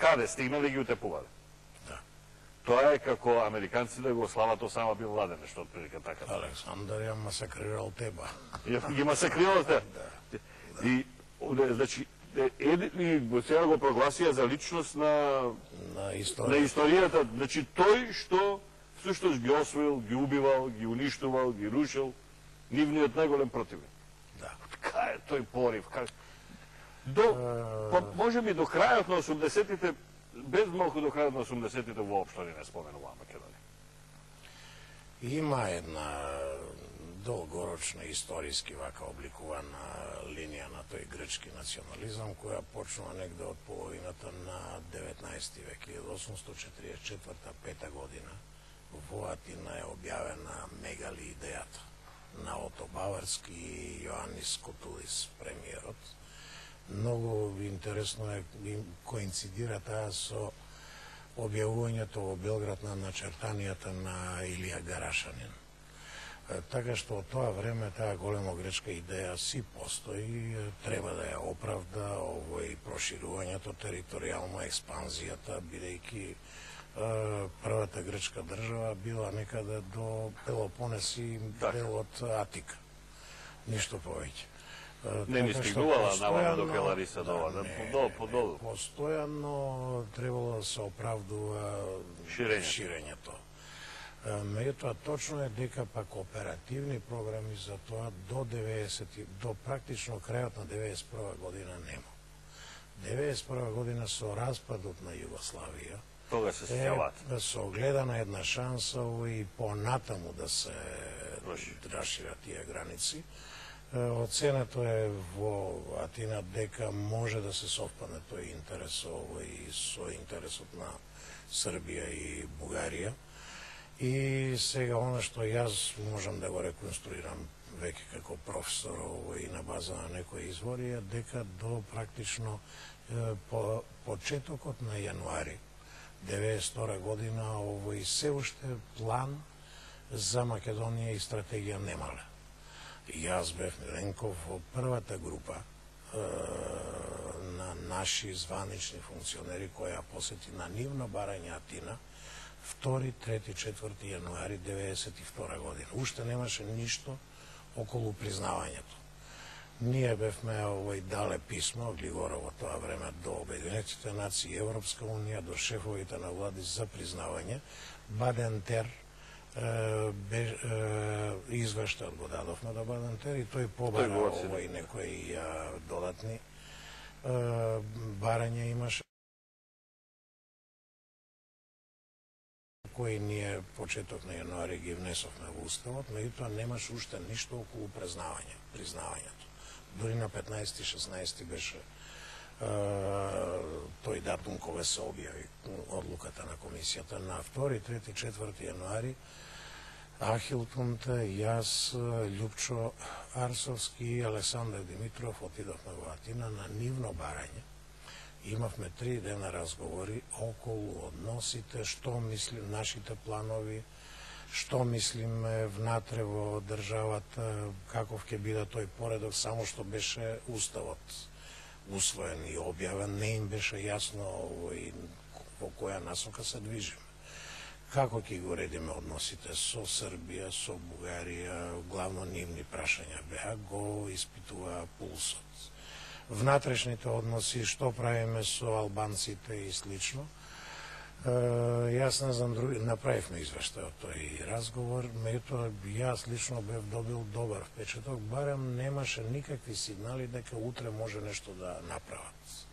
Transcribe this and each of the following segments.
каде стигнале ги утепувале. Тоа е како американците го слават Осама бин Ладен, нешто отприлика така. Александар ја масакрирал Теба. Ги масакрирал Теба. И, значи, сега го прогласија за личност на историјата. Значи, тој што всушност ги освоил, ги убивал, ги уништувал, ги рушил, нивниот најголем противник. Да. Кај е тој порив? Може би до крајот на 80-тите, без малку до крајот на 80-тите воопшто не споменува Македонија. Има една долгорочна историски вака обликувана линија на тој грчки национализам, која почнува негде од половината на 19 век, 1844-5 година. Во Атина е објавена мегали идејата на Ото Баварски и Јоанис Котулис, премиерот. Многу интересно е, коинцидира таа со објавувањето во Белград на начертанијата на Илија Гарашанин. Така што од тоа време таа голема гречка идеја си постои, треба да ја оправда овој проширувањето, територијално експанзијата, бидејќи првата грчка држава била некаде до Пелопонес и дел од Атика. Ништо повеќе. Не ни стигнувала наваму до Пелариса подолу. Постојано требало да се оправдува ширењето. Меѓутоа точно е дека пак оперативни програми за тоа до практично крајот на 91 година нема. 91 година со распадот на Југославија тога се сеќават. Со огледана една шанса и понатаму да се расшират тие граници. Оценето е во Атина дека може да се совпадне тој интерес и со интересот на Србија и Бугарија. И сега оно што јас можам да го реконструирам веќе како професор и на база на некои извори е дека до практично по почетокот на јануари 92 година овој се уште план за Македонија и стратегија немале. Јас бев Миленков во првата група на наши званични функционери која посети на нивно барање Атина 2, 3, 4 јануари 92 година. Уште немаше ништо околу признавањето. Ние бевме дале писмо, Глигора во тоа време, до Обединетите нации, Европска унија, до шефовите на влади за признавање. Бадентер извештајот го дадовме до Бадентер и тој побара некои додатни барања имаше, кои ние почеток на јануари ги внесовме во Уставот, меѓутоа немаше уште ништо околу признавањето. Дори на 15-16 беше тој датум кога се објави одлуката на комисијата. На 2, 3, 4 јануари Ахил Тунта, јас, Љупчо Арсовски и Александар Димитров отидовме во Атина на нивно барање. Имавме 3 дена разговори околу односите, што мислим, нашите планови, што мислиме внатре во државата, каков ќе биде тој поредок, само што беше Уставот усвоен и објавен, не им беше јасно во која насока се движиме. Како ќе го редиме односите со Србија, со Бугарија, главно нивни прашања беа, го испитува пулсот. Внатрешните односи, што правиме со албанците и слично. Јас не знам, направивме извештај од тој разговор, меѓутоа јас лично бев добил добар впечаток, барем немаше никакви сигнали дека утре може нешто да направат.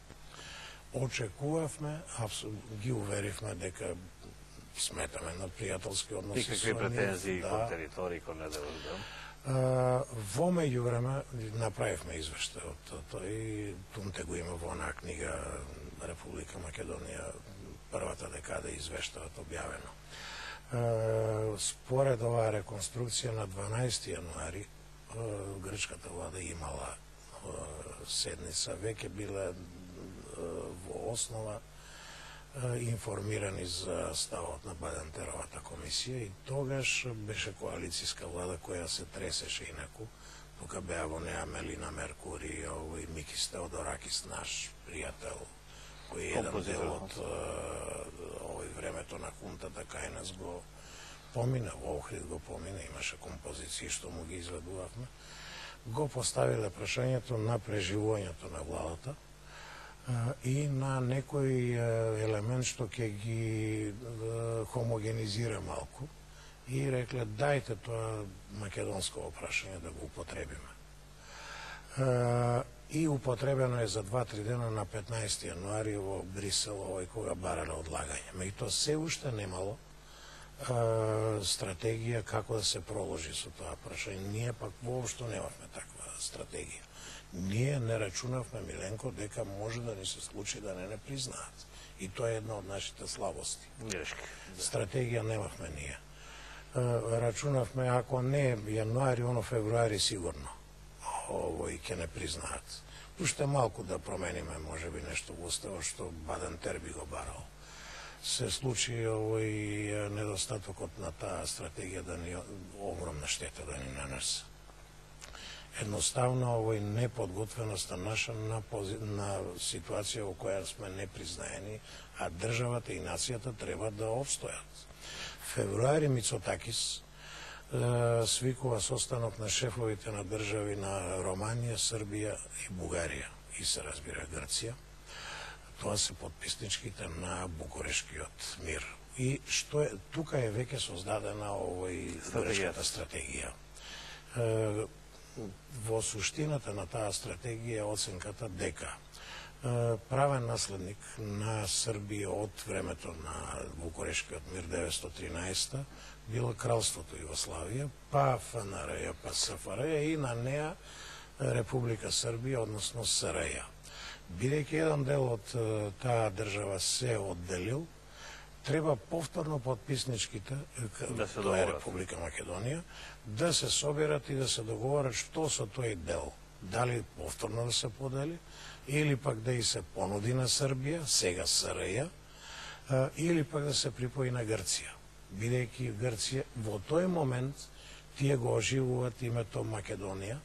Очекувавме, ги уверивме дека сметаме на пријателски односи. И какви претензии кон територии, кон неделот? Во меѓувреме направивме извештај од тој, Тунте го има во онаа книга Република Македонија, првата декада извештајот објавено. Според оваа реконструкција на 12 јануари грчката влада имала седница, веќе биле во основа информирани за ставот на Бадентеровата комисија и тогаш беше коалицијска влада која се тресеше инаку. Тука беа во неа Мелина Меркури и Микис Теодоракис, наш пријател кој е еден дел од овој времето на хунтата кај нас го помина, во Охрид го помина, имаше композиции што му ги изведувавме, го поставиле прашањето на преживувањето на владата и на некој елемент што ќе ги хомогенизира малку и рекле дајте тоа македонско прашање да го употребиме. И употребено е за 2-3 дена на 15 јануари во Брисел, овој кога барале одлагање. Меѓутоа се уште немало стратегија како да се проложи со тоа прашање. Ние пак воопшто немавме таква стратегија. Ние не рачунавме, Миленко, дека може да ни се случи да не признаат. И тоа е една од нашите слабости. Стратегија немавме ние. Рачунавме, ако не јануари, оно февруари сигурно овој ќе не признаат. Уште малку да промениме, може би нешто во уставот што Баден-Тер би го барал. Се случи овој недостатокот на таа стратегија да ни огромна штета да ни нанесе. Едноставно овој неподготвеноста наша на ситуација во која сме непризнаени, а државата и нацијата треба да обстојат. Февруари Мицотакис свикува состанок на шефовите на држави на Романија, Србија и Бугарија и се разбира Грција. Тоа се подписничките на Букурешкиот мир. И што е тука е веќе создадена овој Букурешката стратегија. Во суштината на таа стратегија е оценката дека правен наследник на Србија од времето на Букурешкиот мир 1913 било кралството Југославија, па ФНР, па СФР и на неа Република Србија, односно СРЈ. Бидејќи еден дел од таа држава се одделил, треба повторно подписничките, тоа е Република Македонија, да се соберат и да се договорат што со тој дел. Дали повторно да се подели, или пак да и се понуди на Србија, сега СРЈ, или пак да се припои на Грција. Бидејќи Грција во тој момент тие го оживуваат името Македонија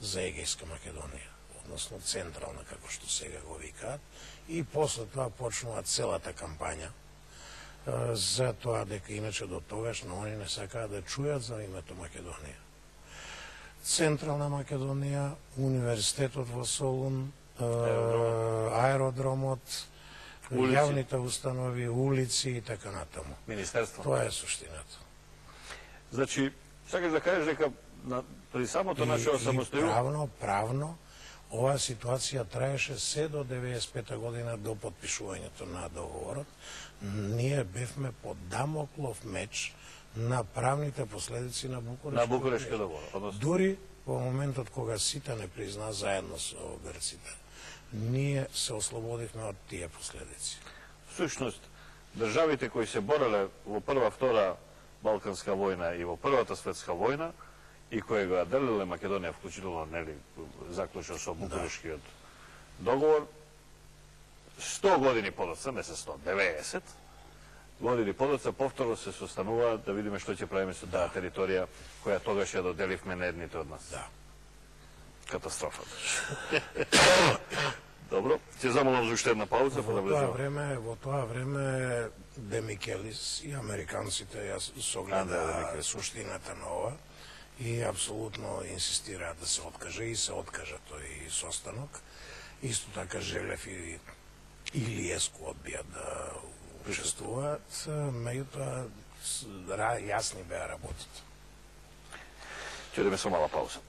за Егејска Македонија, односно централна, како што сега го викаат, и после тоа почнува целата кампања за тоа дека иначе до тогаш но они не сакаат да чујат за името Македонија. Централна Македонија, универзитетот во Солун, аеродромот, јавните установи, улици и така натаму. Министерство. Тоа е суштината. Значи, сакаш да кажеш дека при самото наше осамостојување правно оваа ситуација траеше се до 95 година до потпишувањето на договорот. Ние бевме под Дамоклов меч на правните последици на Букурешкиот договор. Дури во моментот кога сите не призна заедно со грците, ние се ослободивме од тие последици. Всушност, државите кои се бореле во прва, втора Балканска војна и во Првата светска војна и кои го делиле Македонија, вклучително заклучно со Букурешкиот договор, 100 години подоцна, не се 100, 90 години подоцна, повторно се состануваат да видиме што ќе правиме со таа територија која тогаш ја доделивме на едните од нас. Да. Катастрофа. Добро, ќе замолам за уште една пауза, па да влеземе. Во тоа време Демикелис и американците ја согледа суштината на ова и апсолутно инсистираат да се откаже и се откажа тој состанок. Исто така Желев и Илиеску одбија да учествуваат, меѓутоа јасни беа работите. Ќе одиме со мала пауза.